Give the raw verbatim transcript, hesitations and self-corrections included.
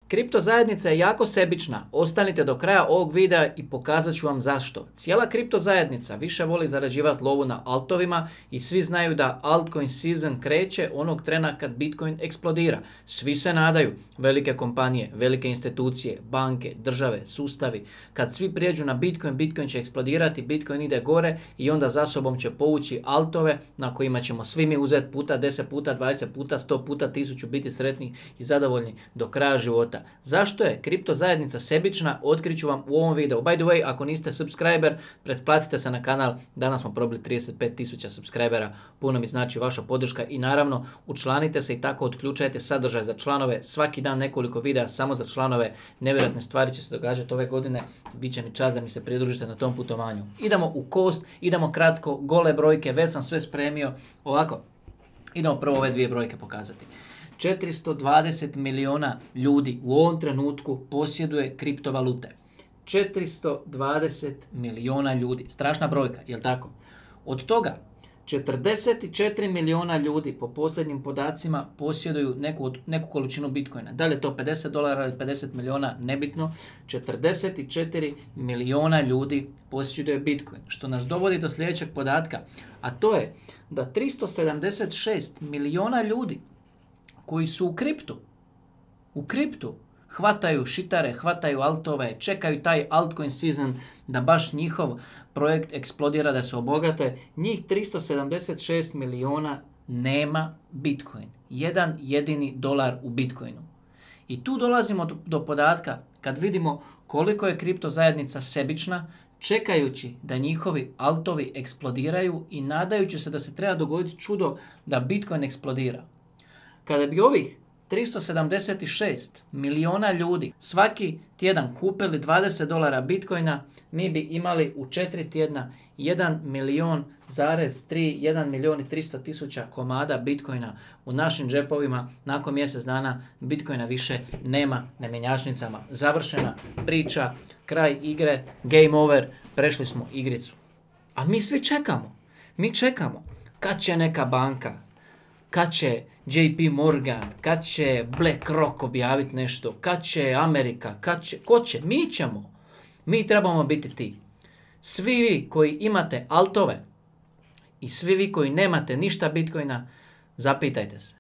Kripto zajednica je jako sebična. Ostanite do kraja ovog videa i pokazat ću vam zašto. Cijela kripto zajednica više voli zarađivati lovu na altovima i svi znaju da altcoin season kreće onog trena kad Bitcoin eksplodira. Svi se nadaju, velike kompanije, velike institucije, banke, države, sustavi, kad svi prijeđu na Bitcoin, Bitcoin će eksplodirati, Bitcoin ide gore i onda za sobom će povući altove na kojima ćemo svi mi uzeti puta deset puta, dvadeset puta, sto puta, tisuću, biti sretni i zadovoljni do kraja života. Zašto je kripto zajednica sebična? Otkriću vam u ovom videu. By the way, ako niste subscriber, pretplatite se na kanal. Danas smo probili trideset pet tisuća subscribera. Puno mi znači vaša podrška i naravno učlanite se i tako otključajte sadržaj za članove. Svaki dan nekoliko videa samo za članove. Nevjerojatne stvari će se događati ove godine. Biće mi čast da mi se pridružite na tom putovanju. Idemo u kost, idemo kratko, gole brojke, već sam sve spremio. Ovako, idemo prvo ove dvije brojke pokazati. četiristo dvadeset milijuna ljudi u ovom trenutku posjeduje kriptovalute. četiristo dvadeset milijuna ljudi. Strašna brojka, jel tako? Od toga četrdeset četiri milijuna ljudi po posljednjim podacima posjeduju neku, neku količinu Bitcoina. Da li je to pedeset dolara ili pedeset milijuna, nebitno. četrdeset četiri milijuna ljudi posjeduje Bitcoin. Što nas dovodi do sljedećeg podatka, a to je da tristo sedamdeset šest milijuna ljudi koji su u kriptu, u kriptu, hvataju šitare, hvataju altove, čekaju taj altcoin season da baš njihov projekt eksplodira, da se obogate, njih tristo sedamdeset šest milijuna nema Bitcoin. Jedan jedini dolar u Bitcoinu. I tu dolazimo do, do podatka kad vidimo koliko je kripto zajednica sebična, čekajući da njihovi altovi eksplodiraju i nadajući se da se treba dogoditi čudo da Bitcoin eksplodira. Kada bi ovih tristo sedamdeset šest milijuna ljudi svaki tjedan kupili dvadeset dolara Bitcoina, mi bi imali u četiri tjedna jedan milijon zarez tri, jedan milijon i tristo tisuća komada Bitcoina u našim džepovima. Nakon mjesec dana Bitcoina više nema na mjenjačnicama. Završena priča, kraj igre, game over, prešli smo igricu. A mi svi čekamo, mi čekamo kad će neka banka, kad će J P Morgan, kad će BlackRock objaviti nešto, kad će Amerika, kad će, ko će, mi ćemo. Mi trebamo biti ti. Svi vi koji imate altove i svi vi koji nemate ništa Bitcoina, zapitajte se.